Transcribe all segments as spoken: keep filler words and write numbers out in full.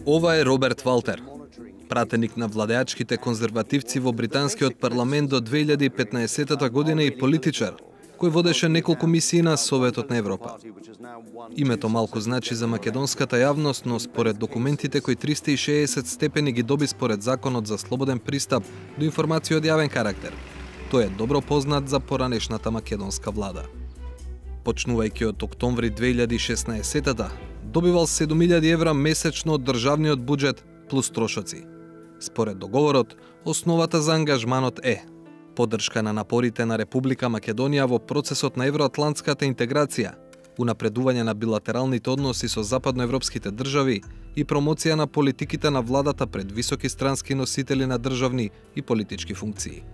Ова е Роберт Валтер, пратеник на владеачките конзервативци во британскиот парламент до две илјади и петнаесетта година и политичар, кој водеше неколку мисии на Советот на Европа. Името малку значи за македонската јавност, но според документите кои триста и шеесет степени ги доби според Законот за слободен пристап до информации од јавен карактер, тој е добро познат за поранешната македонска влада. Почнувајќи од октомври две илјади и шеснаесетта, добивал седум илјади евра месечно од државниот буџет плюс трошоци. Според договорот, основата за ангажманот е поддршка на напорите на Република Македонија во процесот на евроатлантската интеграција, унапредување на билатералните односи со западноевропските држави и промоција на политиките на владата пред високи странски носители на државни и политички функции.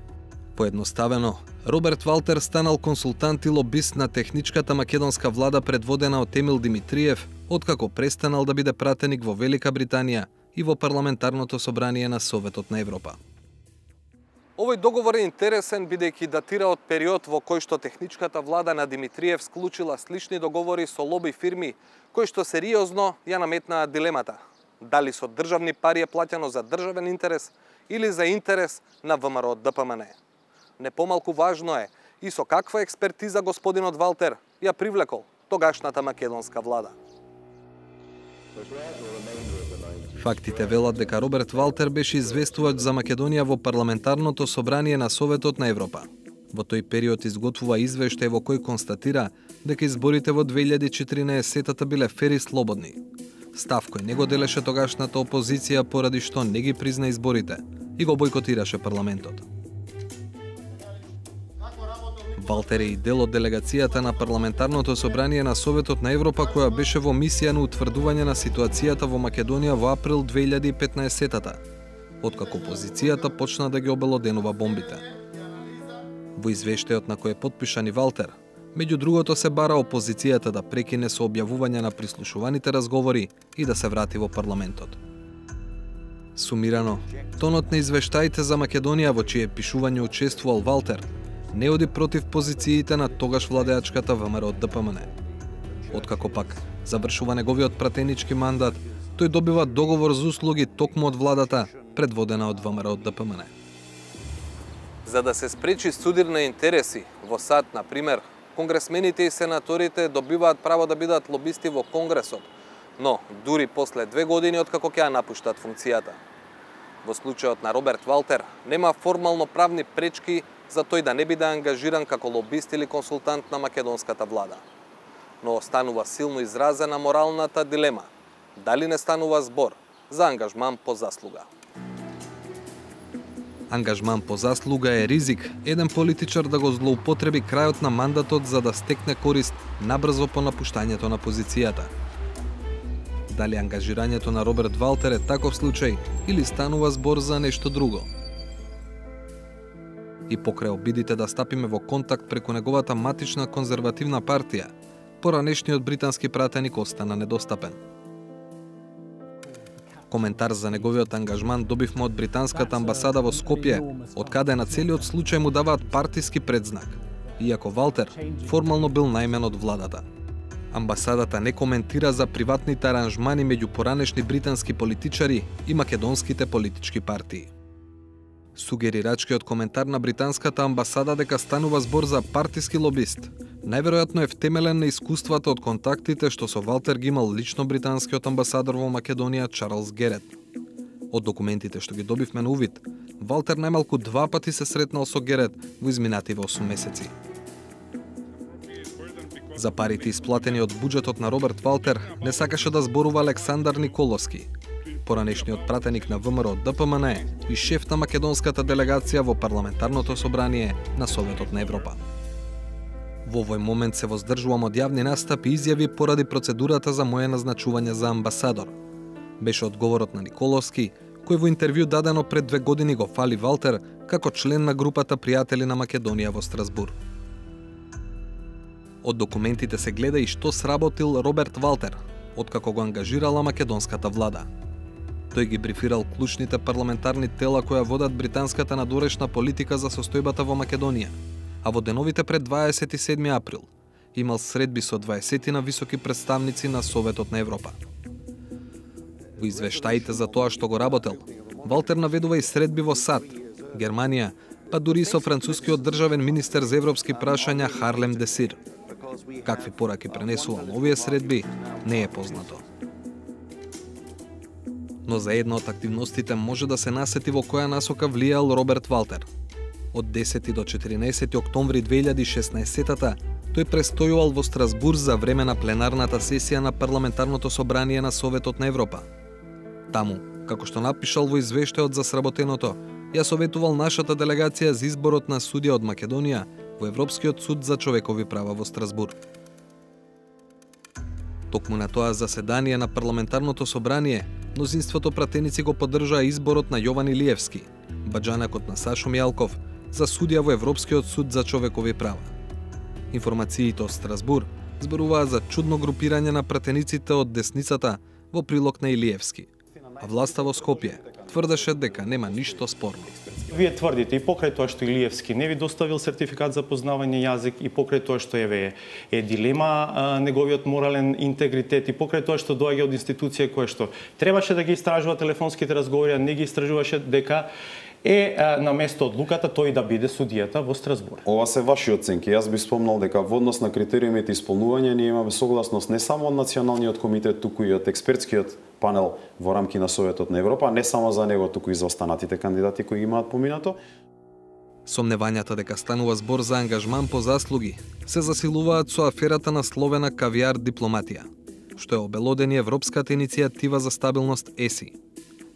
Поедноставено, Роберт Валтер станал консултант и лобист на техничката македонска влада предводена од Емил Димитриев, откако престанал да биде пратеник во Велика Британија и во парламентарното собрание на Советот на Европа. Овој договор е интересен бидејќи датира од период во кој што техничката влада на Димитриев склучила слични договори со лоби фирми кои што сериозно ја наметнаа дилемата дали со државни пари е плаќано за државен интерес или за интерес на ВМРО Д П М Н. Не помалку важно е и со каква експертиза господинот Валтер ја привлекол тогашната македонска влада. Фактите велат дека Роберт Валтер беше известувач за Македонија во парламентарното собрание на Советот на Европа. Во тој период изготвува извештај во кој констатира дека изборите во две илјади и четиринаесетта биле фер и слободни. Став кој не го делеше тогашната опозиција поради што не ги призна изборите и го бойкотираше парламентот. Валтер е и дел од делегацијата на парламентарното собрание на Советот на Европа која беше во мисија на утврдување на ситуацијата во Македонија во април две илјади и петнаесетта, откако опозицијата почна да ги обелоденува бомбите. Во извештајот на кој е потпишан и Валтер, меѓу другото се бара опозицијата да прекине со објавување на прислушуваните разговори и да се врати во парламентот. Сумирано, тонот на извештаите за Македонија во чие пишување учествувал Валтер не оди против позициите на тогаш владеачката ВМРО Д П М Н. Откако пак завршува неговиот пратенички мандат, тој добива договор за услуги токму од владата, предводена од ВМРО Д П М Н. За да се спречи судир на интереси, во САД, на пример, конгресмените и сенаторите добиваат право да бидат лобисти во Конгресот, но дури после две години откако ќе ја напуштат функцијата. Во случајот на Роберт Валтер нема формално правни пречки за тој да не биде ангажиран како лобист или консултант на македонската влада. Но останува силно изразена моралната дилема, дали не станува збор за ангажман по заслуга. Ангажман по заслуга е ризик еден политичар да го злоупотреби крајот на мандатот за да стекне корист набрзо по напуштањето на позицијата. Дали ангажирањето на Роберт Валтер е таков случај или станува збор за нешто друго? И покрај обидите да стапиме во контакт преку неговата матична конзервативна партија, поранешниот британски пратеник остана недостапен. Коментар за неговиот ангажман добивме од британската амбасада во Скопје, од каде на целиот случај му даваат партиски предзнак, иако Валтер формално бил најмен од владата. Амбасадата не коментира за приватните аранжмани меѓу поранешни британски политичари и македонските политички партии. Сугерирачкиот коментар на британската амбасада дека станува збор за партиски лобист, најверојатно е втемелен на искуствата од контактите што со Валтер ги имал лично британскиот амбасадор во Македонија Чарлс Герет. Од документите што ги добивме на увид, Валтер најмалку два пати се сретнал со Герет во изминативе осум месеци. За парите исплатени од буџетот на Роберт Валтер не сакаше да зборува Александар Николовски, поранешниот пратеник на ВМРО Д П М Н и шеф на македонската делегација во парламентарното собрание на Советот на Европа. Во овој момент се воздржувам од јавни настапи и изјави поради процедурата за моје назначување за амбасадор. Беше одговорот на Николовски, кој во интервју дадено пред две години го фали Валтер како член на групата пријатели на Македонија во Страсбур. Од документите се гледа и што сработил Роберт Валтер, откако го ангажирала македонската влада. Тој ги брифирал клучните парламентарни тела која водат британската надорешна политика за состојбата во Македонија, а во деновите пред дваесет и седми април имал средби со дваесет на високи представници на Советот на Европа. Во извештаите за тоа што го работел, Валтер наведува и средби во САД, Германија, па дури со францускиот државен министер за европски прашања Харлем Десир. Какви пораки пренесувал овие средби, не е познато. Но за една од активностите може да се насети во која насока влијал Роберт Валтер. Од десети до четиринаесети октомври две илјади и шеснаесетта тој престојувал во Страсбур за време на пленарната сесија на Парламентарното собрание на Советот на Европа. Таму, како што напишал во извештајот за сработеното, ја советувал нашата делегација за изборот на судија од Македонија во Европскиот суд за човекови права во Страсбур. Токму на тоа заседание на Парламентарното собрание, мнозинството пратеници го поддржаа изборот на Јован Илиевски, баџанакот на Сашо Мијалков, за судија во Европскиот суд за човекови права. Информациите од Страсбур зборуваат за чудно групирање на пратениците од десницата во прилог на Илиевски, а власта во Скопје тврдеше дека нема ништо спорно. Вие тврдите и покрај тоа што Илиевски не ви доставил сертификат за познавање јазик и покрај тоа што еве е дилема а, неговиот морален интегритет и покрај тоа што доаѓа од институција која што требаше да ги истражува телефонските разговори, а не ги истражуваше, дека е а, на место одлуката тој да биде судијата во Страсбур. Ова се ваши оценки. Јас би спомнал дека во однос на критериумите исполнување ние имаме согласност не само од Националниот комитет, туку и од експертскиот панел во рамки на Советот на Европа, не само за него, туку и за останатите кандидати кои имаат поминато. Сомневањата дека станува збор за ангажман по заслуги се засилуваат со аферата на словена кавиар дипломатија, што е обелодени Европската иницијатива за стабилност ЕСИ.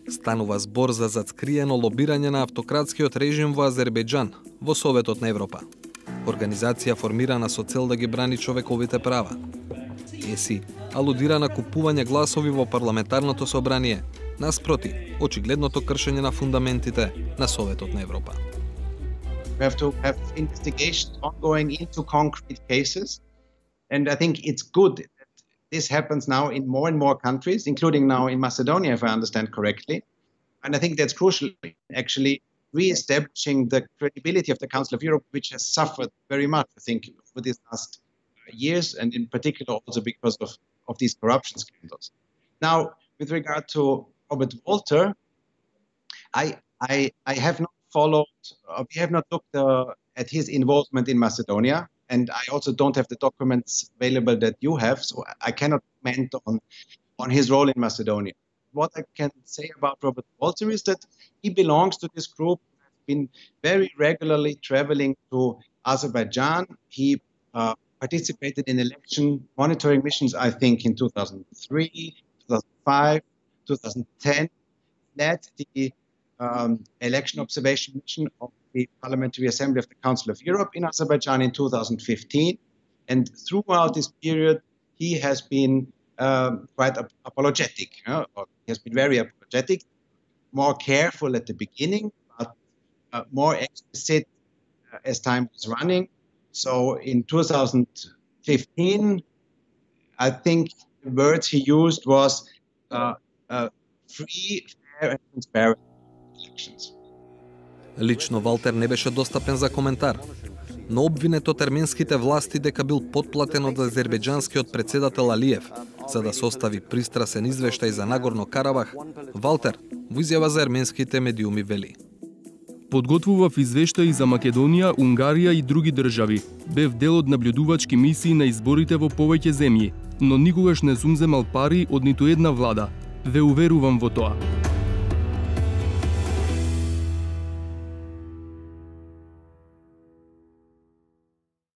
Станува збор за зацкриено лобирање на автократскиот режим во Азербејџан во Советот на Европа. Организација формирана со цел да ги брани човековите права. ЕСИ алудира на купување гласови во Парламентарното собрание, наспроти очигледното кршење на фундаментите на Советот на Европа. We have to have investigations ongoing into concrete cases, and I think it's good that this happens now in more and more countries, including now in Macedonia, if I understand correctly. And I think that's crucial, actually, re-establishing the credibility of the Council of Europe, which has suffered very much, I think, over these last years, and in particular also because of, of these corruption scandals. Now, with regard to Robert Walter, I, I, I have not followed, uh, we have not looked uh, at his involvement in Macedonia, and I also don't have the documents available that you have, so I cannot comment on, on his role in Macedonia. What I can say about Robert Walter is that he belongs to this group, has been very regularly traveling to Azerbaijan. He uh, participated in election monitoring missions, I think, in two thousand three, two thousand five, two thousand ten, led the um, election observation mission of the Parliamentary Assembly of the Council of Europe in Azerbaijan in two thousand fifteen. And throughout this period, he has been um, quite ap apologetic. Uh, or he has been very apologetic, more careful at the beginning, but uh, more explicit uh, as time was running. So in two thousand fifteen, I think the words he used was uh, uh, free, fair and transparent elections. Лично Валтер не беше достапен за коментар, но обвинет од арменските власти дека бил потплатен од азербејџанскиот председател Алиев за да состави пристрасен извештај за Нагорно Карабах, Валтер во изјава за арменските медиуми вели: Подготвував извештаи за Македонија, Унгарија и други држави. Бев дел од наблюдувачки мисии на изборите во повеќе земји, но никогаш не сум земал пари од ниту една влада. Ве уверувам во тоа.